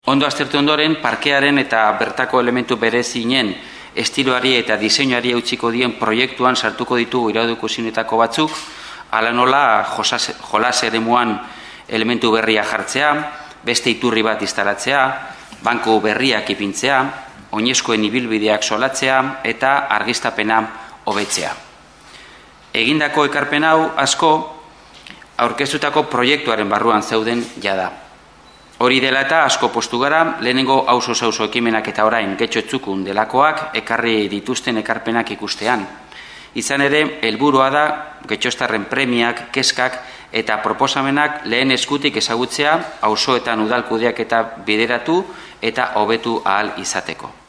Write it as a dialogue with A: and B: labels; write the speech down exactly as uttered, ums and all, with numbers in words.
A: Ondo aztertu ondoren, parkearen eta bertako elementu berezinen estiloari eta diseinuari eutsiko dien proiektuan sartuko ditugu irauduko zinetako batzuk, hala nola jolas eremuan elementu berria jartzea, beste iturri bat instalatzea, banku berriak ipintzea, oinezkoen ibilbideak solatzea eta argiztapena hobetzea. Egindako ekarpen hau asko aurkeztutako proiektuaren barruan zeuden jada. Hori dela eta asko postu gara, lehenengo auzo-auzo ekimenak eta orain getxotzukun delakoak ekarri dituzten ekarpenak ikustean. Izan ere, helburua da getxostarren premiak, kezkak eta proposamenak lehen eskutik ezagutzea auzoetan udalkudeak eta bideratu eta hobetu ahal izateko.